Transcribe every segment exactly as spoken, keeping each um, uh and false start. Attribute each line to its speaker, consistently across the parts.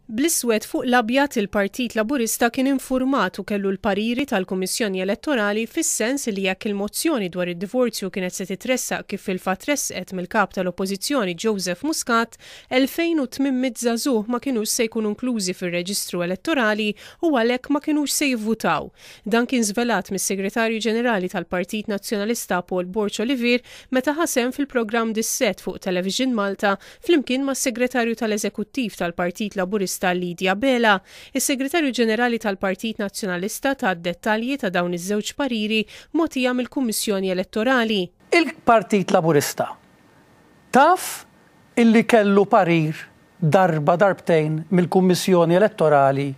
Speaker 1: Bl-iswed fuq l-abjad, il-Partit Laburista kien infurmat u kellu l-pariri tal-Kummissjoni Elettorali fis-sens li jekk il-mozzjoni dwar id-divorzju kienet se titressaq kif fil-fatt tressqet mill-kap tal-Oppożizzjoni Joseph Muscat, elfejn u tmien mitt żagħżugħ ma kinux se jkunu inklużi fir-reġistru elettorali u għalhekk ma kinux se jivvutaw. Dan kien żvelat mis-Segretarju Ġenerali tal-Partit Nazzjonalista Paul Borg Olivier meta ħa sehem fil-programm Dissett fuq Television Malta flimkien mas-Segretarju tal-Eżekuttiv tal-Partit Laburista Lydia Abela. Is-Segretarju Ġenerali tal-Partit Nazzjonalista ta dettalji ta' dawn iż-żewġ pariri mogħtija mill-Kummissjoni Elettorali.
Speaker 2: Il-Partit Laburista taf illi kellu parir darba darbtejn mill-Kummissjoni Elettorali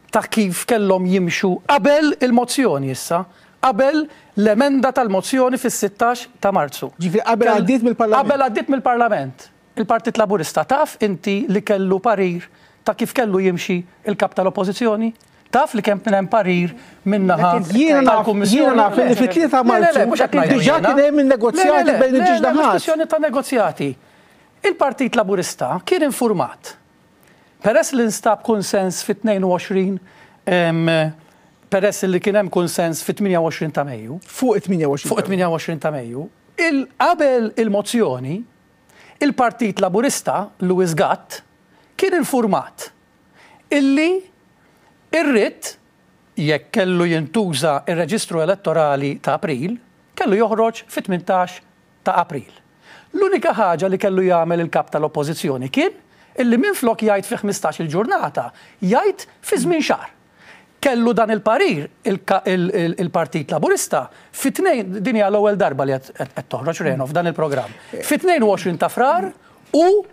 Speaker 2: ta' kif kellhom jimxu qabel il-mozzjoni issa, qabel l-emenda tal-mozzjoni fis-sittax ta' Marzu.
Speaker 3: Ġifieri qabel għaddiet mill-Parlament.
Speaker 2: Qabel għaddiet mill-Parlament. Il-Partit Laburista taf inti li kellu parir ta' kif kellu jimxi il-kap tal-Oppożizzjoni? Taf li kemm hemm parir min-naħa
Speaker 3: Jiena naf
Speaker 2: tal-Kummissjoni?
Speaker 3: Jiena naf li fit-tlieta ta'
Speaker 2: Le, le, le,
Speaker 3: Marzu
Speaker 2: mhux qed ngħidu
Speaker 3: diġà
Speaker 2: jiena.
Speaker 3: Kien hemm il-negozjati
Speaker 2: Le, le, le,
Speaker 3: bejn
Speaker 2: le,
Speaker 3: iż-żewġ
Speaker 2: le, mhux
Speaker 3: naħat.
Speaker 2: kwestjoni ta' negozjati. Il-Partit Laburista kien informat. Peress li nstab konsens fit-tnejn u għoxrin, em, peress li kien hemm konsens fit-tmienja u għoxrin ta' Mejju,
Speaker 3: Fuq it-tmienja u għoxrin.
Speaker 2: Fuq it-tmienja u għoxrin ta' Mejju, il qabel il-mozzjoni, il-Partit Laburista, Louis Gatt, kien informat illi ir-writ, jekk kellu jintuża ir-reġistru elettorali ta' April, kellu joħroġ fit-tmintax ta' April. L-unika ħaġa li kellu jagħmel il-kap tal-Oppożizzjoni kien illi minflok jgħid fi ħmistax il-ġurnata, jgħid fi żmien xahar. Kellu dan il-parir il-ka- il- il- il-Partit Laburista fit-tnejn, din hija l-ewwel darba li qed qed toħroġ Reno f'dan il-programm. Fit-tnejn u għoxrin ta' Frar u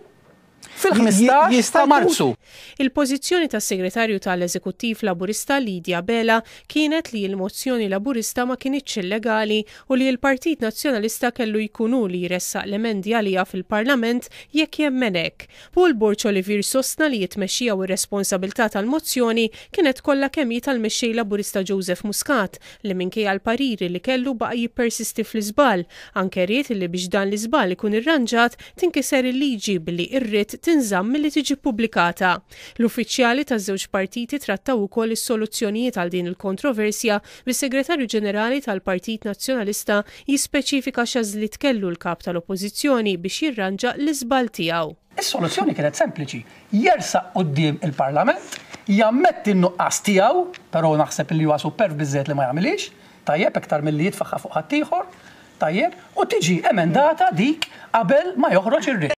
Speaker 2: fil-ħmistax
Speaker 3: Jista'
Speaker 2: ta'
Speaker 3: jkun-
Speaker 2: Marzu.
Speaker 1: Il-pożizzjoni tas-segretarju tal-Eżekuttiv Laburista Lydia Abela kienet li l-mozzjoni Laburista ma kinitx illegali u li l-Partit Nazzjonalista kellu jkunu li jressaq l-emendi għaliha fil-Parlament jekk jemmen hekk. Paul Borg Olivier sostna li t-tmexxija u r-responsabilità tal-mozzjoni kienet kollha kemm hi tal-mexxej Laburista Joseph Muscat, li minkejja l-pariri li kellu baqa' jippersisti fl-iżball. Anke ried li biex dan l-iżball ikun irranġat tinkiser il-liġi billi ir-writ tinżamm milli tiġi pubblikata. L-uffiċjali taż-żewġ partiti trattaw ukoll is-soluzzjonijiet għal din il-kontroversja, bis-Segretarju Ġenerali tal-Partit Nazzjonalista jispeċifika x'għażliet kellu l-kap tal-Oppożizzjoni biex jirranġa l-iżball tiegħu.
Speaker 2: Is-soluzzjoni kienet sempliċi. Jersaq quddiem il-Parlament, jammetti n-nuqqas tiegħu, però naħseb li huwa superv biżżejjed li ma jagħmilix, tajjeb, iktar milli jitfaħħa fuq ħaddieħor, tajjeb, u tiġi emendata dik qabel ma joħroġ ir-writ.